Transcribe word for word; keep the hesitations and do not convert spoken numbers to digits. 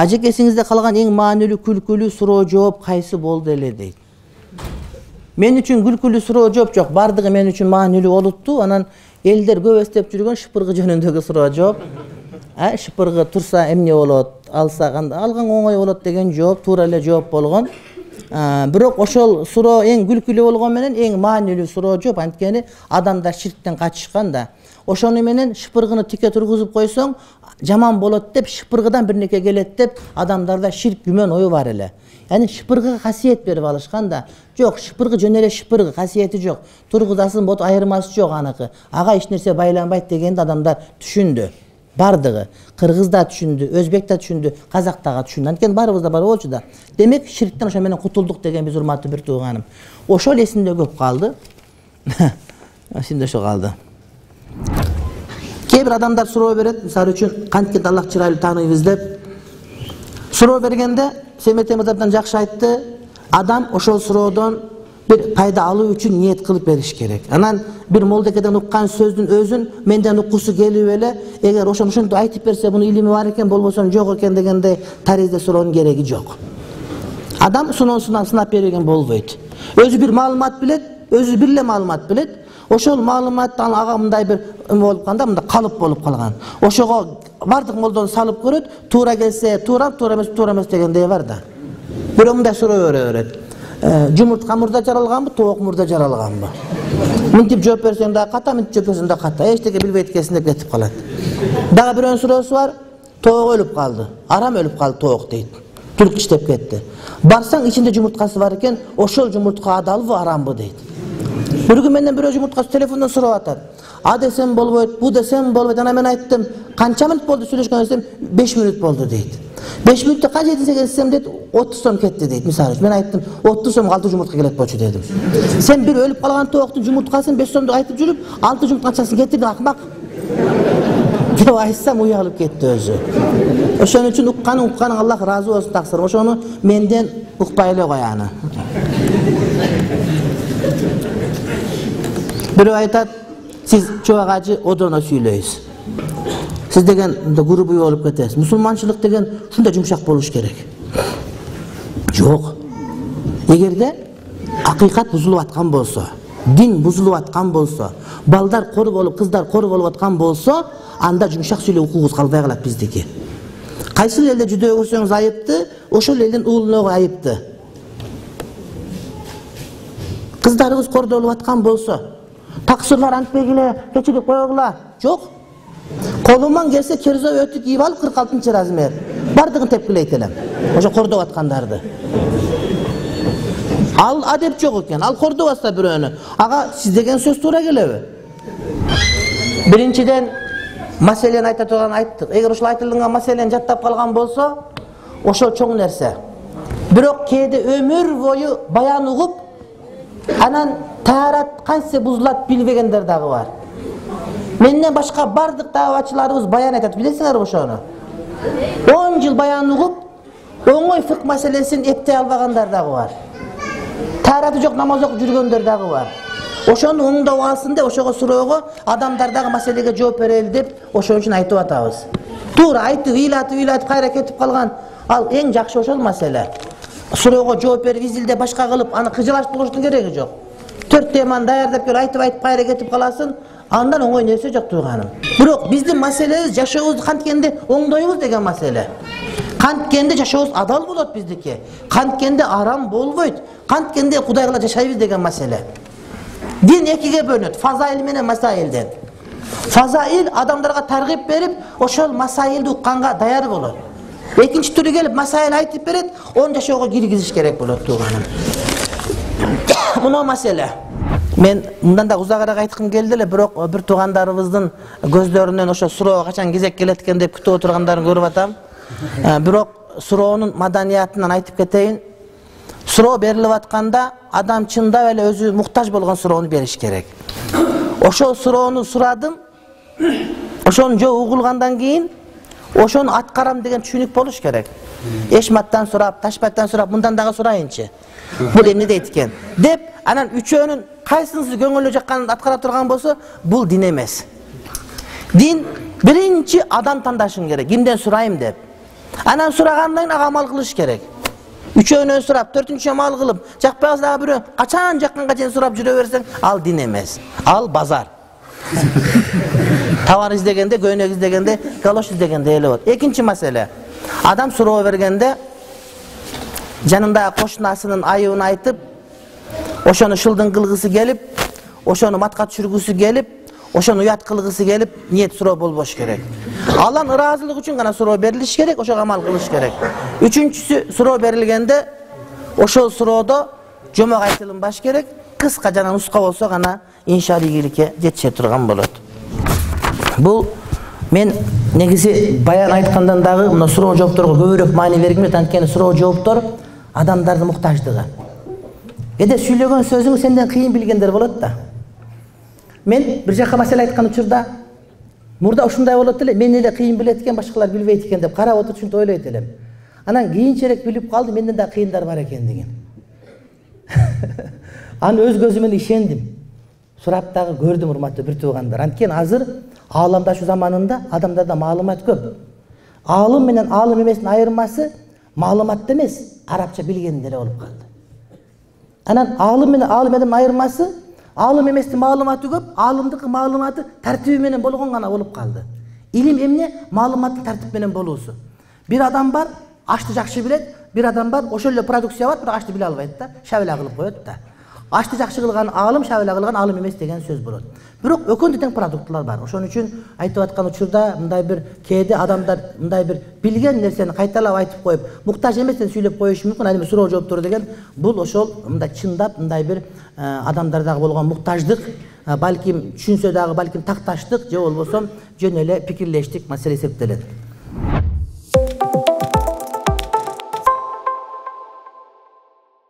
Ажекесиңизде калган эң маанилүү күлкүлүү суроо жооп кайсы болду эле дейт. Мен үчүн күлкүлүү суроо жооп жок, бардыгы мен үчүн маанилүү болупту. Анан элдер көп эстеп жүргөн шыпыргы жөнүндөгү суроо жооп. А шыпыргы турса эмне болот, алса кандай, алган оңой болот деген жооп туура эле жооп болгон. Бирок ошол суроо эң күлкүлүү болгон менен эң маанилүү суроо жооп, анткени адамдар ширктен качышкан да. Ошону менен шыпыргыны тике тургузуп койсоң, жаман болот деп, шыпыргыдан бир неке келет деп, адамдарда ширк күмөн ою бар эле. Яни шыпыргыга касиет берип алышкан да. Жок, шыпыргы жөн эле шыпыргы, касиети жок. Тургузасын болот, айырмасы жок аныкы. Ага эч нерсе байланбайт дегенди адамдар түшүндү. Бардыгы. Кыргыз да түшүндү, өзбек да түшүндү, казак дагы түшүндү. Анткени баарыбызда бар болчу да. Демек, ширктен ошо менен кутулдук деген биз, урматтуу бир тууганым. Ошол эсимде көп калды. Эсимде ошо калды. Кээ бир адамдар суроо берет, мисалы үчүн кантип Аллах чырайлуу тааныйбыз деп. Суроо бергенде Семет Мырзадан жакшы айтты, адам ошол суроодон бир пайда алуу үчүн ниет кылып бериш керек. Анан бир молдекеден уккан сөздүн өзүн менден уккусу келип эле, эгер ошону ошентип айтып берсе, бунун илими бар экен, болбосо жок экен дегендей таризде суроонун кереги жок. Адам суноосунан сынап берген болбойт. Өзү бир маалымат билет, өзү бир эле маалымат билет. Ошол маалыматтан ага мындай бир болуп калганда, мындай калып болуп калган. Ошого бардык молдону салып көрөт, туура келсе туура, туура эмес туура эмес дегендей бар да. Бирок мындай суроо берет. Жумуртка мурда жаралганбы, тоок мурда жаралганбы? Мынтип жооп берсең да ката, мынтип жооп берсең да ката. Эчтеке билбейт экенсиң деп кетип калат. Дагы бирөөнүн суроосу бар. Тоок өлүп калды. Арам өлүп калды тоок дейт. Турк иштеп кетти. Барсаң ичинде жумурткасы бар экен, ошол жумуртка адалбы, арамбы дейт. Бир күн менден бирөө жумурткасы телефондон сурап атат. А десем болбойт, бу десем болбойт. Анан мен айттым, канча мүнөт болду сүйлөшкөн десем, беш мүнөт болду дейт. беш мүнөттө канча жетинсе келсем дейт, отуз сом кетти дейт. Мисалы үчүн мен айттым, отуз сомго алты жумуртка келет болчу дедим. Сен бир өлүп калган тооктун жумурткасын беш сомдук айтып жүрүп, алты жумуртка акчасын кетирдиң, акмак. Деп айтсам уялып кетти өзү. Ошон үчүн укканың укканың Аллах ыраазы болсун таксырым. Ошону менден укпай эле кой аны. Бирөө айтат, сиз чубак ажы одоно сүйлөйсүз. Сиз деген грубый болуп кетесиз. Мусулманчылык деген ушундай жумшак болуш керек. Жок. Эгерде акыйкат бузулуп аткан болсо, дин бузулуп аткан болсо, балдар кор болуп, кыздар кор болуп аткан болсо, анда жумшак сүйлөө укугубуз калбай калат биздики. Кайсы элде жүдөө көрсөңүз айыпты, ошол элдин уулуна айыпты. Кыздарыбыз кордолуп аткан болсо, таксырлар антпегиле, кечирип койгула. Жок. Колуман келсе керзо өтүк кийип алып кырк алтынчы размер. Бардыгын тепкилейт элем. Ошо кордоп аткандарды. Ал адеп жок экен. Ал кордобаса бирөөнү. Ага сиз деген сөз туура келеби? Биринчиден маселени айта турган айттык. Эгер ошол айтылган маселени жаттап калган болсо, ошол чоң нерсе. Бирок кээде өмүр бою баян угуп, анан таарат кантсе бузулат билбегендер дагы бар. Менден башка бардык дааватчыларыбыз баян айтат, билесиңерби ошону? он жыл баян угуп, оңой фык маселесин эптей албагандар дагы бар. Таараты жок намаз окуп жүргөндөр дагы бар. Ошону оңдоп алсын деп, ошого суроого адамдардагы маселеге жооп берели деп, ошон үчүн айтып атабыз. Туура айтып, ыйлатып, ыйлатып кайра кетип калган, ал эң жакшы ошол маселе. Суроого жооп берип, изилде башка кылып, аны кыжылашып болуштун кереги жок. Төрт теманы даярдап келип айтып айтып кайра кетип каласың, андан оңой нерсе жок тууганым. Бирок биздин маселебиз жашообузду канткенде оңдойбуз деген маселе. Канткенде жашообуз адал болот биздики. Канткенде арам болбойт. Канткенде Кудайга жашайбыз деген маселе. Дин экиге бөлүнөт, фазаил менен масаилден. Фазаил адамдарга таргып берип, ошол масаилди укканга даяр болот. Экинчи түрү келип масаил айтып берет, оны жашоого киргизиш керек болот тууганым. Мына маселе. Мен мындан да узагыраак айткым келди эле, бирок бир туугандарыбыздын көздөрүнөн ошо суроо качан кезек келет экен деп күтүп отургандарын көрүп атам. Бирок суроонун маданиятынан айтып кетейин. Суроо берилип атканда адам чындап эле өзү муктаж болгон суроону бериш керек. Ошол суроону сурадым. Ошону жөө угулгандан кийин ошону аткарам деген түшүнүк болуш керек. Эшматтан сурап, Ташпаттан сурап, мындан дагы сурайынчы. Бул эмне дейт экен деп, анан үчөөнүн кайсынысы көңүлү жакканын аткара турган болсо, бул дин эмес. Дин биринчи адам тандашың керек, кимден сурайм деп. Анан сурагандан кийин ага амал кылыш керек. Үчөөнөн сурап, төртүнчү амал кылып, жакпагыз дагы бирөө качан жакканга чейин сурап жүрө берсең, ал дин эмес. Ал базар. Товар издегенде, көйнөк издегенде, галош издегенде эле болот. Экинчи маселе. Адам суроо бергенде жанындагы кошунасынын айыбын айтып, ошону шылдың кылгысы келип, ошону матка түшүргүсү келип, ошону уят кылгысы келип, ниет суроо болбош керек. Алланын ыраазылыгы үчүн гана суроо берилиш керек, ошого амал кылыш керек. Үчүнчүсү, суроо берилгенде ошол суроодо жомок айтылынбаш керек, кыска жана нуска болсо гана иншалла ийгиликке жетише турган болот. Бул мен негизи баян айткандан дагы мына суроо жоопторго көбүрөөк маани бергим келет, анткени суроо жооптор адамдардын муктаждыгы. Кээде сүйлөгөн сөзүң сенден кыйын билгендер болот да. Мен бир жака маселе айткан учурда мурда ушундай болот эле, мен эле кыйын билет экен, башкалар билбейт экен деп карап отуруп ушинтип ойлойт элем. Анан кийинчерээк билип калдым, менден да кыйындар бар экендигин. Аны өз көзүм менен ишендим. Сурап дагы көрдүм, урматтуу бир туугандар. Анткени азыр ааламдашу заманында адамдарда маалымат көп. Аалым менен аалым эместин айырмасы маалыматта эмес, арабча билгенде эле болуп калды. Анан аалым менен аалым эместин айырмасы аалым эместин маалыматы көп, аалымдыкы маалыматы тартиби менен болгон гана болуп калды. Илим эмне? Маалыматтын тартип менен болуусу. Бир адам бар, ашты жакшы билет, бир адам бар, ошол эле продукция бар, бирок ашты биле албайт да, шабыла кылып коет да. Ашты жакшы кылган аалым, шабыла кылган аалым эмес деген сөз болот. Бирок экөөндө тең продуктлар бар. Ошон үчүн айтып аткан учурда мындай бир кээде адамдар мындай бир билген нерсени кайталап айтып коюп, муктаж эместен сүйлөп коюшу мүмкүн. Ал эми суроо жооптор деген бул ошол мындай чындап мындай бир адамдардагы болгон муктаждык, балким түшүнсө дагы балким такташтык же болбосо жөн эле пикирлештик маселе эсептелет.